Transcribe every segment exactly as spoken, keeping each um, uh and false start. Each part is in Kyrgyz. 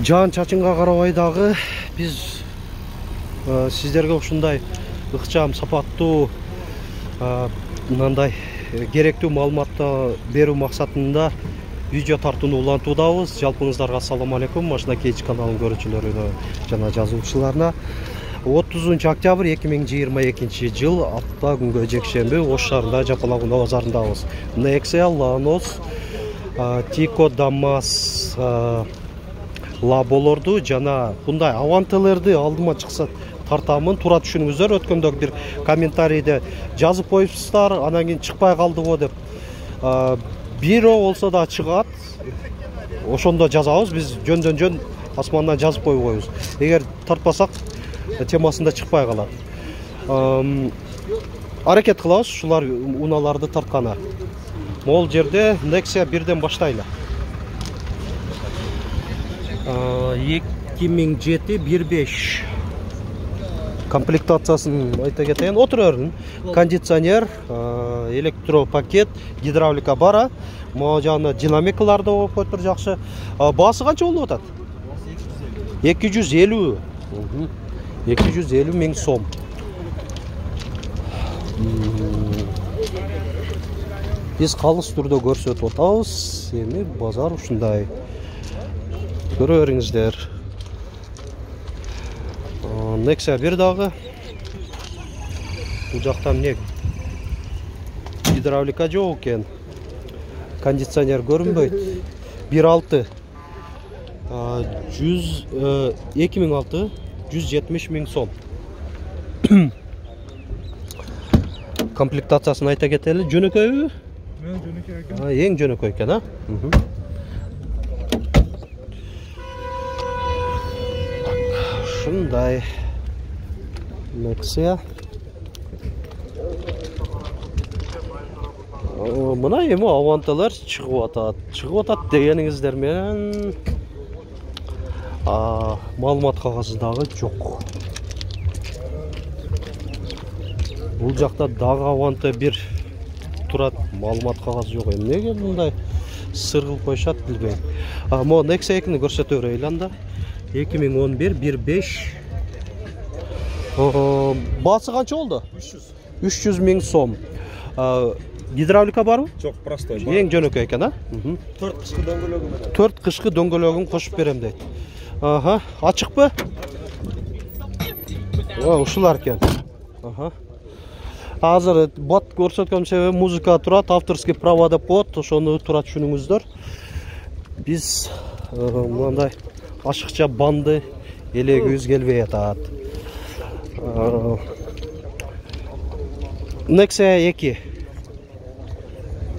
Жан чачынга карабай дагы биз сиздерге ушундай ыкчам, сапаттуу, мындай керектүү маалыматты берүү максатында видео тартууну улантуудабыз. Жалпыңыздарга ассаламу алейкум. Машина Кейч каналынын көрүүчүлөрүнө жана жазуучуларына отузунчу октябрь эки миң жыйырма экинчи жыл апта күнгө жекшемби Ош шаарында Жапалак унаа базарындабыз. Nexia, Lanos, Tico, Damas, Лаболорду жана мындай Авантелерди алдыма чыкса тартамын. Туура түшүнүңүздөр. Өткөндө бир комментарийде жазып коюпсуздар, анан кийин чыкпай калдыбы деп. Бирөө болсо да чыгат. Ошондо жазабыз. Биз жөндөн жөн асмандан жазып коюп коебуз. Эгер тартпасак темасында чыкпай калат. Аракет кылабыз ушулар унааларды тартканы. Могул жерде Nexia бирден баштайлы. эки миң жети бир беш комплектациясын айта кетейин. Отура бердим. Кондиционер, электропакет, гидравлика бара. Могу жагында динамикалар да болуп коюптур жакшы. Баасы канча болуп атат? эки жүз элүү. эки жүз элүү миң сом. Биз калыс түрдө көрсөтүп атабыз. Эми базар ушундай. Көрө бериңиздер. Nexia бир дагы. Бул жакта эмне? Гидравлика жок экен. Кондиционер көрүнбөйт. бир алты. жүз эки миң алты, жүз жетимиш миң сом. Комплектациясын айта кетели. Жөнөкөйбү? Жөнөкөй экен. Эң жөнөкөй экен, а? Ушундай Nexia. Мына эми Авантелер чыгып атат. Чыгып атат дегениңиздер менен маалымат кагазы дагы жок. Бул жакта дагы Аванте бир турат, маалымат кагазы жок. Эмнеге мындай сыр кылып коюшат билбейм. Могу Nexia экини көрсөтө берейли анда. эки миң он бир бир беш. Баасы канча болду? үч жүз миң сом. Гидравлика барбы? Жок, простой. Эң жөнөкөй экен, а? төрт кышкы дөңгөлөгүн. төрт кышкы дөңгөлөгүн кошуп берем дейт. Аха, ачыкпы? О, ушулар экен. Аха. Азыр бат көрсөткөн себеби музыка турат, авторский права деп коет, ошону туура түшүнүңүздөр. Биз мындай ашыкча банды элегибиз келбей атат. Nexia эки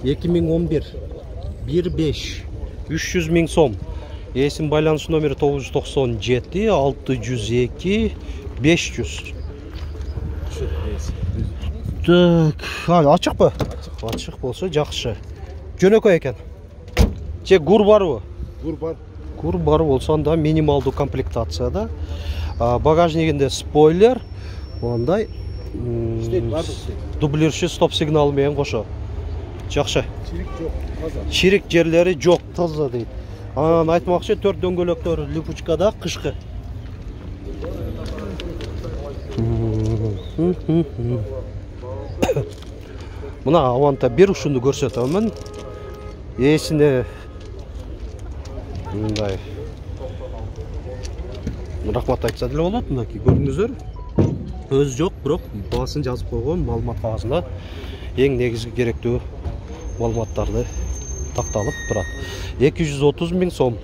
эки миң он бир бир беш үч жүз миң сом. Эсим байланыш номери тогуз жүз токсон жети алты жүз эки беш жүз. Так, ачыкпы? Ачык болсо жакшы. Жөнөкөй экен. Же гур барбы? Гур бар. Гур бар болсо анда минималдуу комплектацияда. Багажнигинде спойлер, мындай дублирчи стоп сигналы менен кошо. Жакшы. Чирик жок, таза. Чирик жерлери жок, таза дейт. Анан айтмакчы төрт дөңгөлөктөр липучкада кышкы. Мына Аванта бир ушуну көрсөтөмүн. Эсине мындай рахмат айтса деле болот. Мынакей көрдүңүздөр. Өз жок, бирок баасын жазып койгон маалымат кагазында эң негизги керектүү маалыматтарды такталып турат. эки жүз отуз миң сом.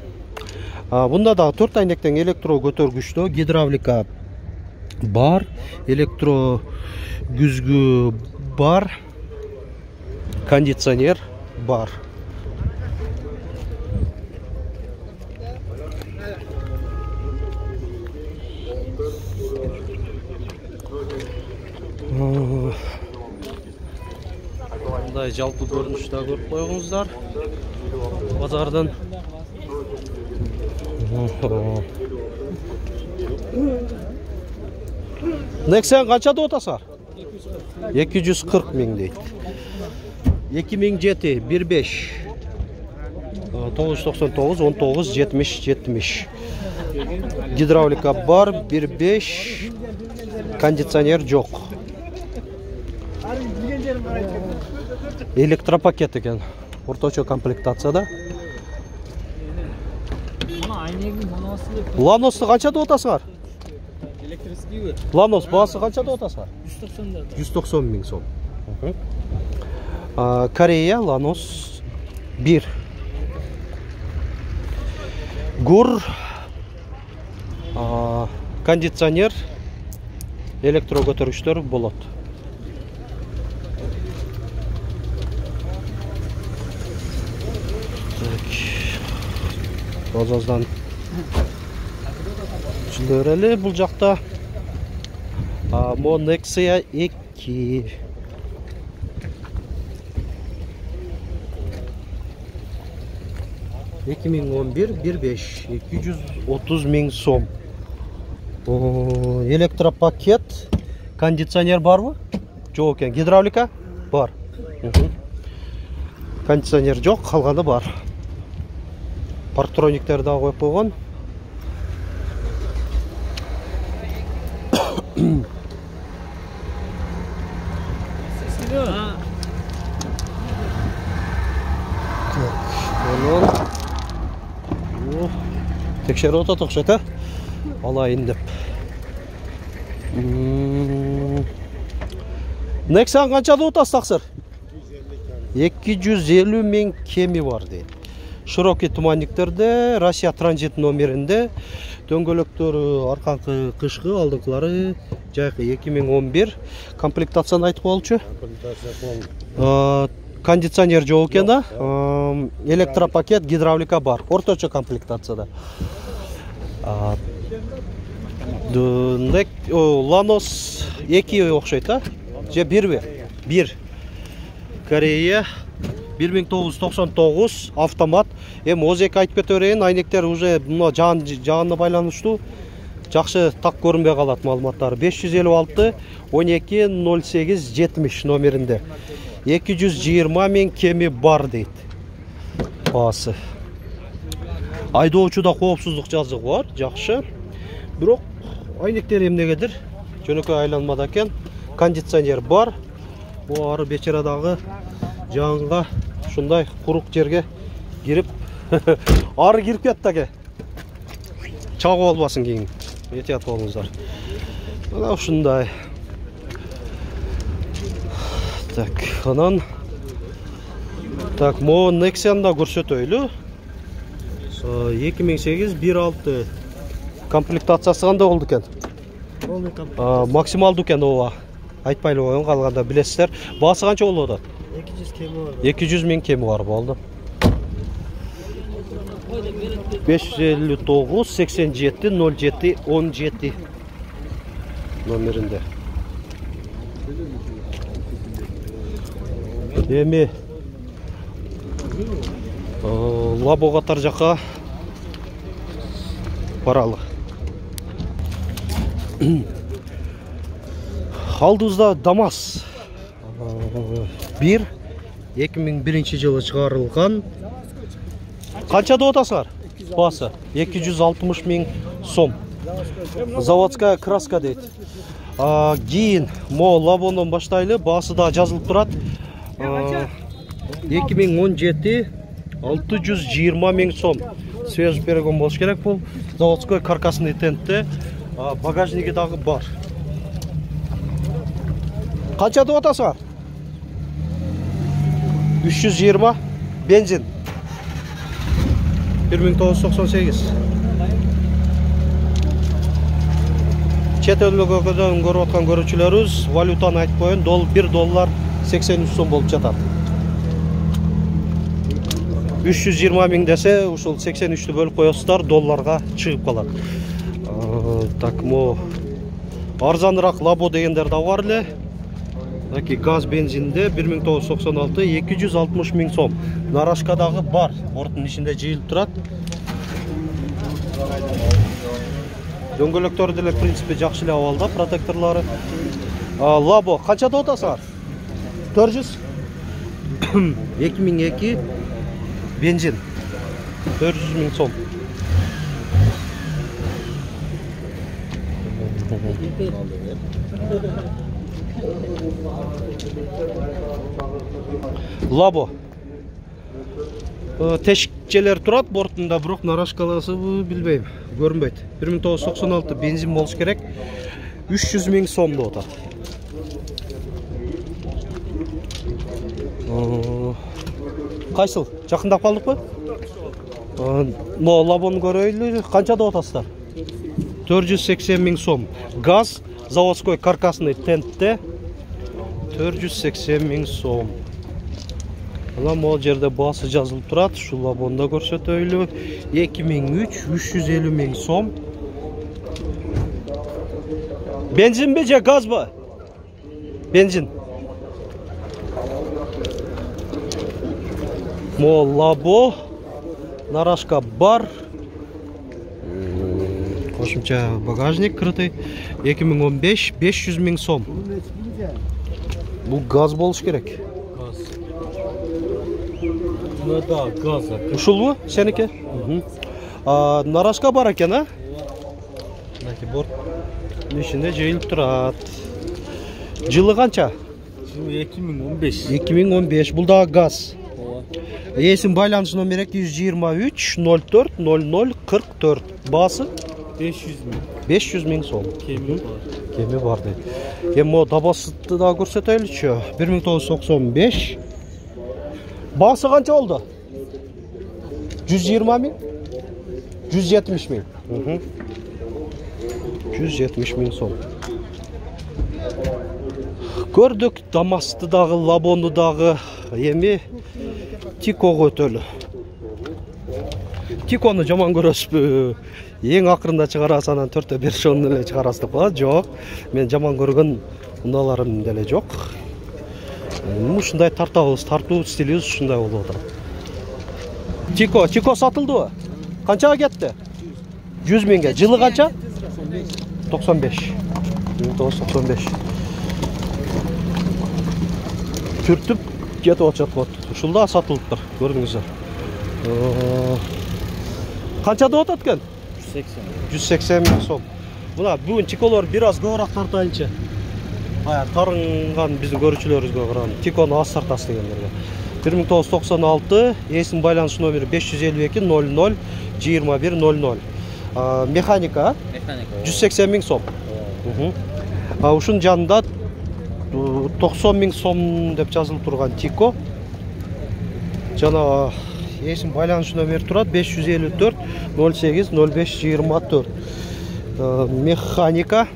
Бунда да төрт айнектен электро көтөргүчтө гидравлика бар, электро күзгү бар, кондиционер бар. Мындай жалпы көрүнүштө көрүп коюңуздар. Базардан. Nexia канча деп атасыңар? эки жүз кырк миң дейт. эки миң жети бир беш тогуз жүз токсон тогуз он тогуз жетимиш жетимиш. Гидравлика бар, бир беш. Кондиционер жок. Электропакет экен. Орточо комплектацияда. Ланосты канча деп атасыңар? Электрический. Ланос баасы канча деп атасыңар? жүз токсон миң сом. Корея Ланос бир. Гур, кондиционер, электро көтөргүчтөр болот. Базаздан түшүндүр эле бул жакта. Мо Nexia эки. эки миң он бир бир беш эки жүз отуз миң сом. Электропакет, кондиционер барбы? Жок экен. Гидравлика бар. Кондиционер жок, калганы бар. Парктрониктер да коюп койгон. Текшерип атат окшойт, э? Алайын деп. Nexia канча деп атасыз таксыр? эки жүз элүү миң кеми бар дейт. Широкий туманниктерде, Россия транзит номеринде, дөңгөлөктөрү арканкы кышкы, алдыңкылары жайкы эки миң он бир. Комплектацияны айтып коелучу. Кондиционер жок экен да. Электропакет, гидравлика бар. Орточо комплектацияда. Ланос эки окшойт, а? Же бирби? бир. Корея бир миң тогуз жүз токсон тогуз автомат. Эми оз эки айтып кете берейин, айнектер уже мына жаан жаанына байланыштуу жакшы так көрүнбөй калат маалыматтары. беш жүз элүү алты он эки ноль сегиз жетимиш номеринде. эки жүз жыйырма миң кеми бар дейт. Баасы. Айдоочуда коопсуздук жазыгы бар, жакшы. Бирок айнектер эмнегедир жөнөкөй айланмада экен. Кондиционер бар. Бу ары бечарадагы жаанга ушундай курук жерге кирип ары кирип кетти аке. Чагып албасын кийин. Этият болуңуздар. Мына ушундай. Так, анан так, мо Nexia'ны да көрсөтөйлү. эки миң сегиз бир алты комплектациясы кандай болду экен? Максималдуу экен ооба. Айтпайлы коюн, калганда билесиздер. Баасы канча болуп атат? эки жүз кеми бар. эки жүз миң кеми бар болду. беш жүз элүү тогуз сексен жети ноль жети он жети номеринде. Эми Лабо катар жака баралы. Алдыбызда ДАМАЗ бир эки миң биринчи жылы чыгарылган. Канча деп атасыңар? Баасы эки жүз алтымыш миң сом. Заводская краска дейт. Кийин мо Лабонон баштайлы, баасы да жазылып турат. эки миң он жети алты жүз жыйырма миң сом. Свежий перегон болуш керек бул. Заводской каркасный тентте, багажниги дагы бар. Канча деп атасыңар? үч жүз жыйырма бензин. бир миң тогуз жүз токсон сегиз. Чет өлкөдөн көрүп аткан көрүүчүлөрүбүз валютаны айтып коюн, дол бир доллар сексен үч сом болуп жатат. үч жүз жыйырма миң десе, ушул сексен үчтү бөлүп коесуздар, долларга чыгып калат. Так, мо арзаныраак Лабо дегендер да бар эле. Таки газ бензинде бир миң тогуз жүз токсон алты эки жүз алтымыш миң сом. Нарашка дагы бар, борттун ичинде жыйылып турат. Дөңгөлөктөр деле в принципе жакшы эле абалда, протекторлору. Лабо канча деп атасыңар? төрт жүз эки миң эки бензин төрт жүз миң сом. Лабо. Тешикчелер турат бортунда, бирок нарашкаласыбы билбейм, көрүнбөйт. бир миң тогуз жүз токсон алты бензин болуш керек. үч жүз миң сом деп атат. Кайсыл? Жакындап калдыкпы? Но лабону көрөйлү. Канча деп атасыздар? төрт жүз сексен миң сом. Газ заводской каркасный тентте төрт жүз сексен миң сом. Ана могу жерде баасы жазылып турат. Ушул лабонда көрсөтөйлү. эки миң үч үч жүз элүү миң сом. Бензинби же газбы? Бензин. Мо лабо. Нарашка бар. Кошумча багажник крытый. эки миң он беш беш жүз миң сом. Бул газ болуш керек. Газ. Ну да, газ. Ушулбу сеники? А нарашка бар экен, а? Мынакей борт ишинде жыйылып турат. Жылы канча? Жылы эки миң он беш. эки миң он беш. Бул да газ. Эсин байланыш номер эки жүз жыйырма үч ноль төрт ноль ноль кырк төрт. Баасы беш жүз миң. беш жүз миң сом. Кеми бар. Кеми бар дейт. Эми могу дабасытты да көрсөтөйлүчү. бир миң тогуз жүз токсон беш. Баасы канча болду? жүз жыйырма миң? жүз жетимиш миң. жүз жетимиш миң сом. Көрдүк Дамасты дагы, Лабону дагы. Эми Тикого өтөлү. Тикону жаман көрөсүзбү? Эң акырында чыгарасыз, анан төртө беш он эле чыгарасыз деп коет. Жок, мен жаман көргөн унааларым деле жок. Ушундай тартабыз, тартуу стилибиз ушундай болуп атат. Тико, Тико сатылдыбы? Канчага кетти? жүз миңге. Жылы канча? токсон беш. миң тогуз жүз токсон беш. Түртүп кетип атат. Ушул да сатылыптыр, көрдүңүздөр. Канча деп атат экен? жүз сексен миң сом. Мына бүгүн Тиколор бир аз көбүрөөк тартайынчы. Ая тарынган биздин көрүүчүлөрүбүзгө караганда Тикону аз тартасы дегендерге. бир миң тогуз жүз токсон алты, эсин байланыш номери беш жүз элүү эки ноль ноль жыйырма бир ноль ноль. Механика? Механика. жүз сексен миң сом. А ушунун жанында токсон миң сом деп жазылып турган Тико. Жана эсин байланыш номери турат беш жүз элүү төрт ноль сегиз ноль беш жыйырма төрт. Механика.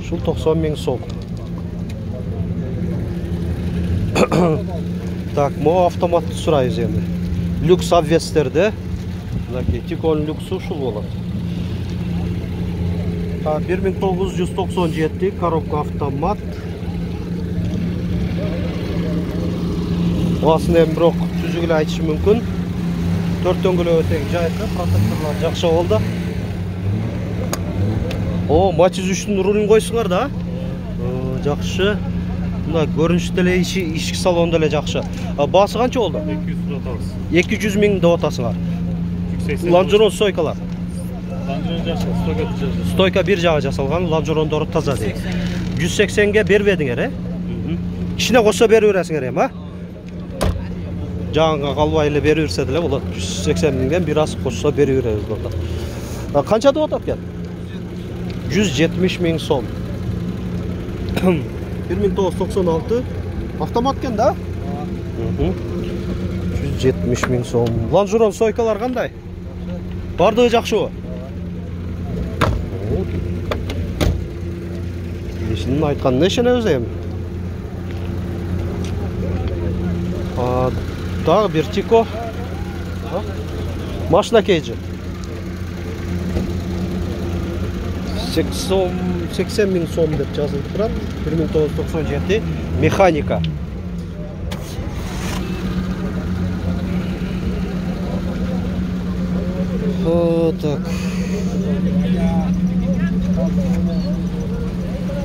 Ушул токсон миң сом. Так, могу автоматты сурайбыз эми. Люкс обвестерде. Мынакей Тиконун люксу ушул болот. бир миң тогуз жүз токсон жети коробка автомат. Баасын эми бирок түзүк эле айтыш мүмкүн. Төрт дөңгөлөк тең жайкы, протекторлор жакшы болду. О, Матиз үчтүн рулун койсуңар да. Жакшы. Мына көрүнүш деле ички салон деле жакшы. Баасы канча болду? эки жүз деп атабыз. эки жүз миң деп атасыңар. Лонжерон стойкалар. Лонжерон жакшы, стойка жакшы. Стойка бир жагы жасалган, лонжерондору таза дейт. жүз сексенге бербедиңер, э? Кичине кошсо берип бересиңер эми, а? Жаңга калбай эле берип берсе деле болот. жүз сексен миңден бир аз кошсо берип беребиз болот. Канча деп атат экен? жүз жетимиш миң сом. бир миң тогуз жүз токсон алты автомат экен да? жүз жетимиш миң сом. Лонжерон стойкалар кандай? Бардыгы жакшыбы? Ишинин айтканына ишенебиз эми. Дагы бир Тико. Машина кейжи. сексен миң сом деп жазылып турат. бир миң тогуз жүз токсон жети механика. О, так.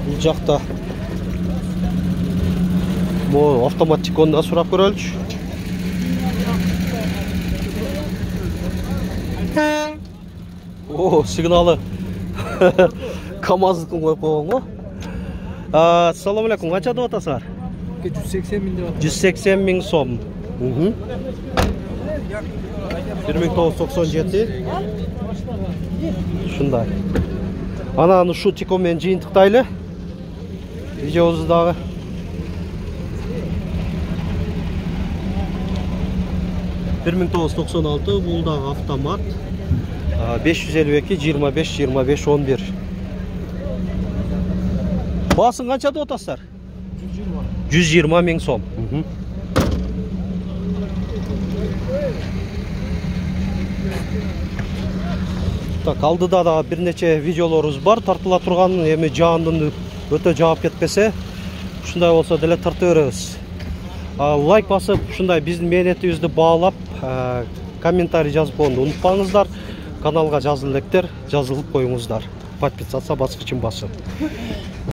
Бул жакта бу автомат Тикону да сурап көрөлүчү. О, сигналы КамАЗдыкын коюп койгон го. Ассаламу алейкум. Канча деп атасыңар? жүз сексен миң деп атат. жүз сексен миң сом. бир миң тогуз жүз токсон жети. Ушундай. Анан ушу тико менен жыйынтыктайлы. Видеобузду дагы. бир миң тогуз жүз токсон алты, бул дагы автомат. беш жүз элүү эки, жыйырма беш, жыйырма беш, он бир. Баасын канча деп атасыздар? жүз жыйырма миң сом. Так, алдыда да бир нече видеолорубуз бар, тартыла турган, эми жаандын өтө жаап кетпесе, ушундай болсо деле тартып беребиз. Лайк басып, ушундай биздин мээнетибизди баалап, комментарий жазып коюуну унутпаңыздар. Каналга жазыл электер, жазылып коюңуздар. Подписаться баскычын басып.